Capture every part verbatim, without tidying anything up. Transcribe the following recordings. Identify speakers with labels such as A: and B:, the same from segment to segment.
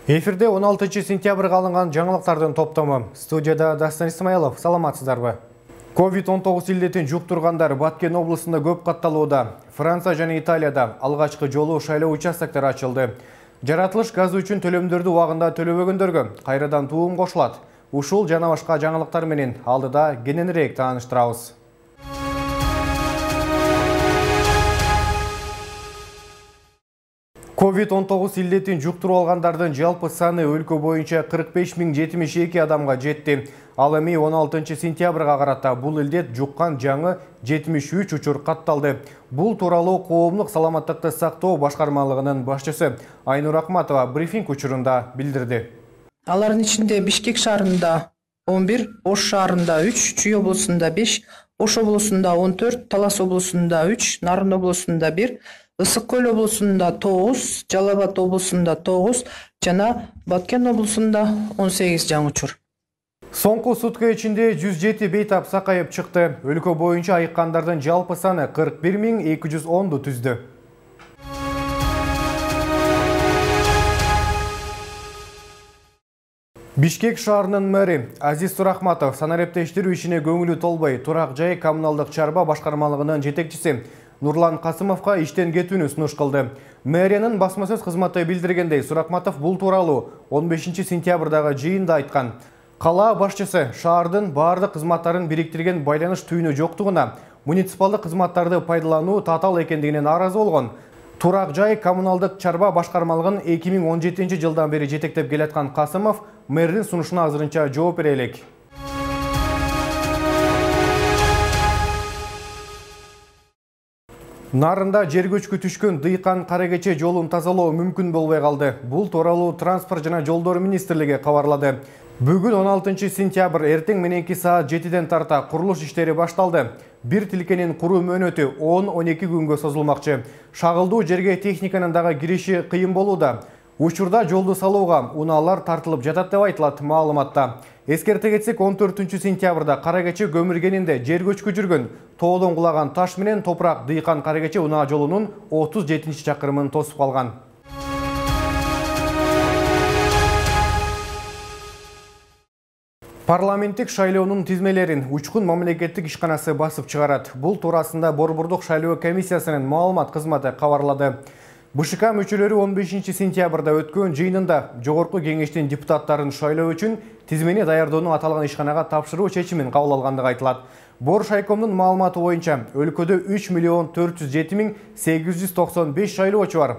A: Эфирде он алтынчы сентябрга алынган жаңылыктардын топтому. Студияда Дастан Исмаилов, саламатсыздарбы? ковид он тогуз илдетин жуктургандар Баткен облусунда көп катталууда. Франция жана Италияда алгачкы жолу шайлоо участоктори ачылды. Жаратылыш газы үчүн төлөмдөрдү убагында төлөбөгөндөргө кайрадан туум кошулат. Ушул жана башка жаңылыктар менен алдыда кененирээк тааныштырабыз. ковид он тогуз илдетин жуктуруп алгандардын жалпы саны өлкө боюнча кырк беш миң жетимиш эки адамга жетти. Ал эми он алтынчы сентябрга карата бул илдет жуккан жаңы жетимиш үч учур катталды. Бул тууралуу коомдук саламаттыкты сактоо башкармалыгынын башчысы Айнур Акматова брифинг учурунда билдирди.
B: Алардын ичинде Бишкек шаарында он бир, Ош шаарында үч, Чүй облусунда беш, Ош облусунда он төрт, Талас облусунда үч, Нарын облусунда бир, Ысык көл облусунда тогуз, Жалал Абад облусунда тогуз жана Баткен облусунда он сегиз жаңы учур.
A: Соңку сутка ичинде жүз жети бейтап сакайып чыкты. Өлкө боюнча айыккандардын жалпы саны кырк бир миң эки жүз онду түздү. Бишкек шаарынын мэри Азиз Сурахматов санариптештирүү ишине көңүлү толбой турак жай коммуналдык чарба башкармалыгынын жетекчиси Нурлан Касымовго иштен кетүүнү сунуш кылды. Мэриянын басма сөз кызматы билдиргендей, Сурахматов бул тууралуу он бешинчи сентябрдагы жыйында айткан. Кала башчысы шаардын баардык кызматтарын бириктирген байланыш түйүнү жоктугуна, муниципалдык кызматтарды пайдалануу татаал экендигине нааразы болгон. Турак жай коммуналдык чарба башкармалыгын эки миң он жетинчи жылдан бери жетектеп келаткан Касымов мэрдин сунушуна азырынча жооп бере элек. Нарында жер көчкү түшкөн Дыйкан Каракече жолун тазалоо мүмкүн болбой калды. Бул тууралуу Транспорт жана жолдор министрлиги кабарлады. Бүгүн он алтынчы сентябрь эртең мененки саат жетиден тарта курулуш иштери башталды. Бир тилкенин куруу мөөнөтү он он эки күнгө созулмакчы. Шагылдуу жерге техниканын дагы кириши кыйын болууда. Учурда жолду салууга унаалар тартылып жатат деп айтылат маалыматта. Эскерте кетсек, он төртүнчү сентябрда Каракече көмүргенинде жер көчкү жүргөн тоодон кулаган таш менен топурак Дыйкан Каракече унаа жолунун отуз жетинчи чакырымын тосуп калган. Парламенттик шайлоонун тизмелерин Учкун мамлекеттик ишканасы басып чыгарат. Бул туурасында Борбордук шайлоо комиссиясынын маалымат кызматы кабарлады. БШК мүчөлөрү он бешинчи сентябрда өткөн жыйынында Жогорку кеңештин депутаттарын шайлоо үчүн тизмени даярдоону аталган ишканага тапшыруу чечимин кабыл алгандыгы айтылат. Боршайкомдун маалыматы боюнча өлкөдө үч миллион төрт жүз жети миң сегиз жүз токсон беш шайлоочу бар.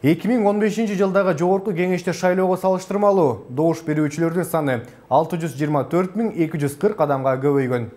A: эки миң он бешинчи жылдагы Жогорку кеңеште шайлоого салыштырмалуу добуш берүүчүлөрдүн саны алты жүз жыйырма төрт миң эки жүз кырк адамга көбөйгөн.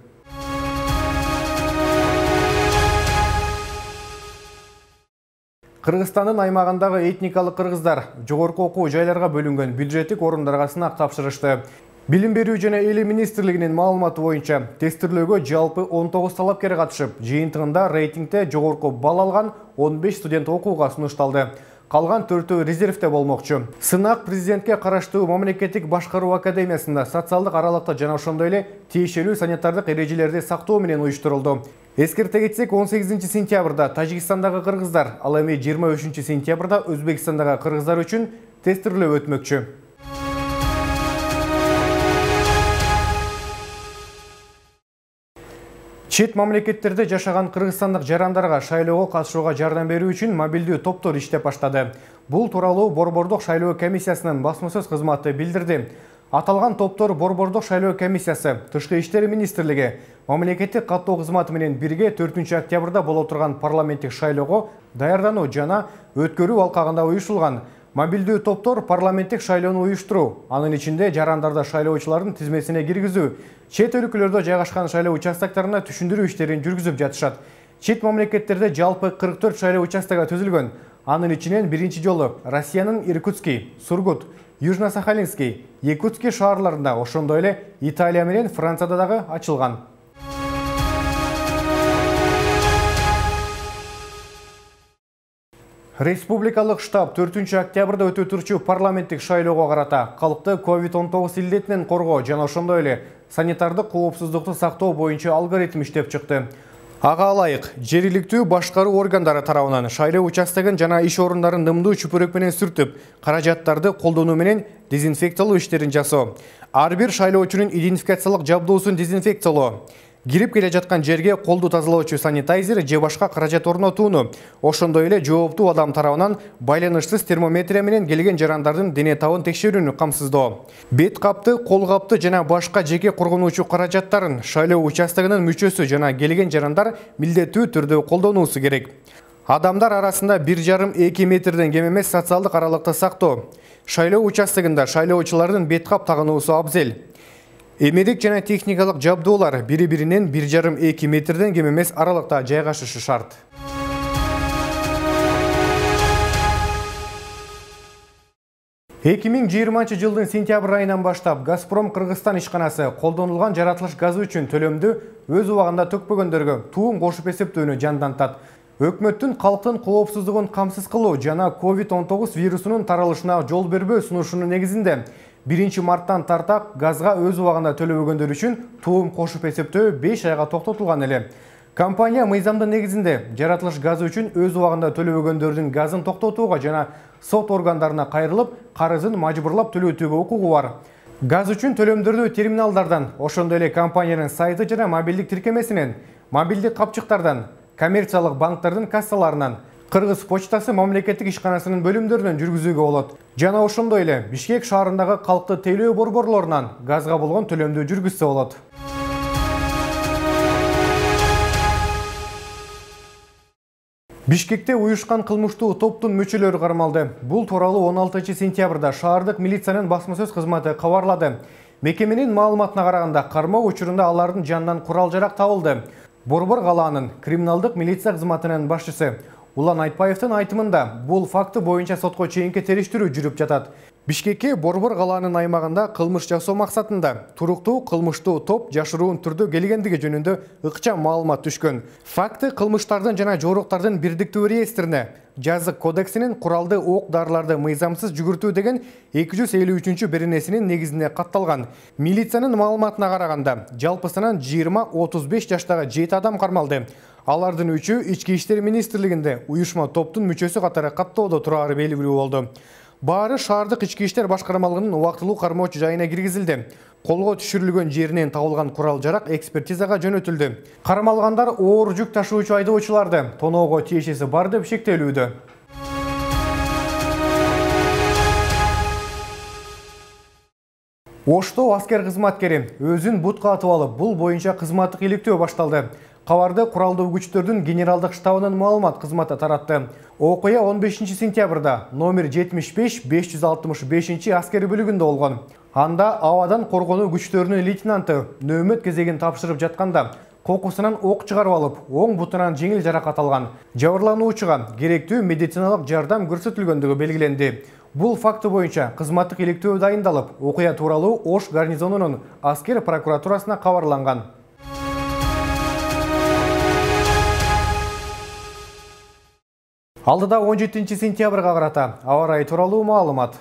A: Кыргызстандын аймагындагы этникалык кыргыздар жогорку окуу жайларга бөлүнгөн бюджеттик орундарга сынак тапшырышты. Билим берүү жана эли министрлигинин маалыматы боюнча тестирлөөгө жалпы он тогуз талапкер катышып, жыйынтыгында рейтингде жогорку балл алган он беш студент окууга сунушталды. Калган төртөө резервде болмокчу. Сынак президентке караштуу мамлекеттик башкаруу академиясында социалдык аралыкта жана ошондой эле тиешелүү санитардык эрежелерди сактоо менен уюштурулду. Эскерте кетсек, он сегизинчи сентябрда Тажикстандагы кыргыздар, ал эми жыйырма үчүнчү сентябрда Өзбекстандагы кыргыздар үчүн тестирлөө өтмөкчү. Чет мамлекеттерде жашаган кыргызстандык жарандарга шайлоого катышууга жардам берүү үчүн мобилдүү топтор иштеп баштады. Бул тууралуу Борбордук шайлоо комиссиясынын басма сөз кызматы билдирди. Аталган топтор Борбордук шайлоо комиссиясы, Тышкы иштер министрлиги, мамлекеттик каттоо кызматы менен бирге төртүнчү октябрда боло турган парламенттик шайлоого даярдануу жана өткөрүү алкагында уюшулган. Мобилдүү топтор парламенттик шайлоону уюштуруу, анын ичинде жарандарды шайлоочулардын тизмесине киргизүү, чет өлкөлөрдө жайгашкан шайлоо участоктарына түшүндүрүү иштерин жүргүзүп жатышат. Чет мамлекеттерде жалпы кырк төрт шайлоо участогу түзүлгөн. Анын ичинен биринчи жолу Россиянын Иркутский, Сургут, Южно-Сахалинский, Якутский шаарларында, ошондой эле Италия менен Францияда дагы ачылган. Республикалык штаб төртүнчү октябрда өтө турчу парламенттик шайлоого карата калкты ковид он тогуз илдетинен коргоо жана ошондой эле санитардык коопсуздукту сактоо боюнча алгоритм иштеп чыкты. Ага алайык, жергиликтүү башкаруу органдары тарабынан шайлоо участогун жана иш орундарын нымдуу чүпүрөк менен сүртүп, каражаттарды колдонуу менен дезинфекциялоо иштерин жасоо. Ар бир шайлоочунун идентификациялык жабдуусун дезинфекциялоо. Кирип келе жаткан жерге колду тазалоочу санитайзер же башка каражат орнотууну, ошондой эле жооптуу адам тарабынан байланышсыз термометрия менен келген жарандардын дене табын текшерүүнү камсыздоо. Бет капты, кол капты жана башка жеке коргонуучу каражаттарын шайлоо участогунун мүчөсү жана келген жарандар милдеттүү түрдө колдонуусу керек. Адамдар арасында бир жарым эки метрден кем эмес социалдык аралыкты сактоо. Шайлоо участогунда шайлоочулардын бет кап тагынуусу абзел. Эмерик жана техникалык жабдуулар бири-биринен бир жарым эки метрден кем эмес аралыкта жайгашышы шарт. эки миң жыйырманчы жылдын сентябрь айынан баштап Газпром Кыргызстан ишканасы колдонулган жаратылыш газы үчүн төлөмдү өз убагында төкпөгөндөргө туум кошуп эсептөөнү жандантат. Өкмөттүн калктын коопсуздугун камсыз кылуу жана ковид он тогуз вирусунун таралышына жол бербөө сунушунун негизинде биринчи марттан тарта газга өз убагында төлөбөгөндөр үчүн туум кошуп эсептөө беш айга токтотулган эле. Компания мыйзамдын негизинде жаратылыш газы үчүн өз убагында төлөбөгөндөрдүн газын токтотууга жана сот органдарына кайрылып, карызын мажбурлап төлөтүүгө укугу бар. Газ үчүн төлөмдөрдү терминалдардан, ошондой эле компаниянын сайты жана мобилдик тиркемесинен, мобилдик капчыктардан, коммерциялык банктардын кассаларынан, Кыргыз почтасы мамлекеттик ишканасынын бөлүмдөрүнөн жүргүзүүгө болот. Жана ошондой эле Бишкек шаарындагы калкты тейлөө борборлорунан газга болгон төлөмдү жүргүзсө болот. Бишкекте уюшкан кылмыштуу топтун мүчөлөрү кармалды. Бул тууралуу он алтынчы сентябрда шаардык милициянын басма-сөз кызматы кабарлады. Мекеменин маалыматына караганда, кармоо учурунда алардын жанынан курал-жарак табылды. Борбор калаанын криминалдык милиция кызматынын башчысы Улан Айтбаевдин айтымында бул факты боюнча сотко чейинки териштирүү жүрүп жатат. Бишкекке Борбор калаанын аймагында кылмыш жасоо максатында туруктуу кылмыштуу топ жашыруун түрдө келгендиги жөнүндө ыкчам маалымат түшкөн. Факты кылмыштардын жана жоруктардын бирдиктүү реестрине Жазык кодексинин куралды ок дарыларды мыйзамсыз жүгүртүү деген эки жүз элүү үчүнчү беренесинин негизинде катталган. Милициянын маалыматына караганда, жалпысынан жыйырма отуз беш жаштагы жети адам кармалды. Алардын үчөө Ички иштер министрлигинде уюшма топтун мүчөсү катары каттоодо турары белгилүү болду. Баары шаардык ички иштер башкармалыгынын убактылуу кармоочу жайына киргизилди. Колго түшүрүлгөн жеринен табылган курал-жарак экспертизага жөнөтүлдү. Кармалгандар оор жүк ташуучу айдоочуларды тоноого тиешеси бар деп шектелүүдө. Ошто аскер кызматкери өзүн бутка атып алып, бул боюнча кызматтык иликтөө башталды. Кабарды куралдуу күчтөрдүн генералдык штабынын маалымат кызматы таратты. Окуя он бешинчи сентябрда номер жетимиш беш беш жүз алтымыш бешинчи аскери бөлүгүндө болгон. Анда абадан коргонуу күчтөрүнүн лейтенанты нөөмөт кезегин тапшырып жатканда кокусунан ок чыгарып алып, оң бутунан жеңил жаракат алган. Жабырлануучуга керектүү медициналык жардам көрсөтүлгөндүгү белгиленди. Бул факты боюнча кызматтык иликтөө дайындалып, окуя тууралуу Ош гарнизонунун аскер прокуратурасына кабарланган. Алдыда он жетинчи сентябрга карата аба ырайы тууралуу маалымат.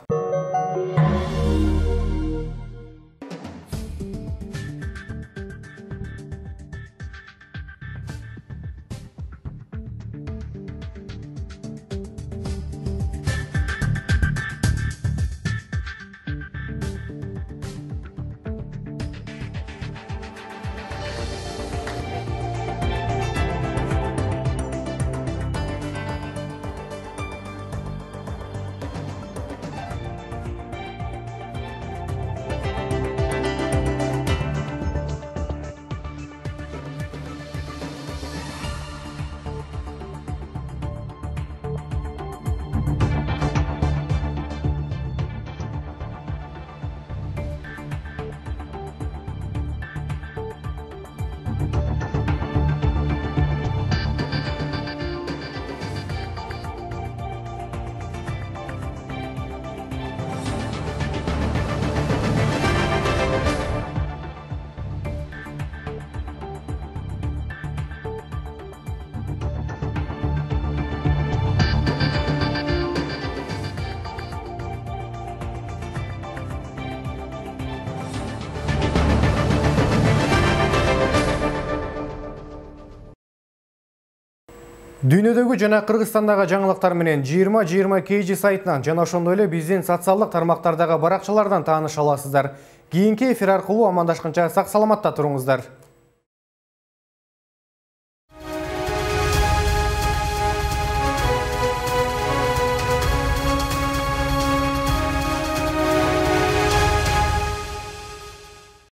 A: Дүйнөдөгү жана Кыргызстандагы жаңылыктар менен жыйырма жыйырма кей жи сайтынан жана ошондой эле биздин социалдык тармактардагы баракчалардан тааныша аласыздар. Кийинки эфир аркылуу амандашканча сак саламатта туруңуздар.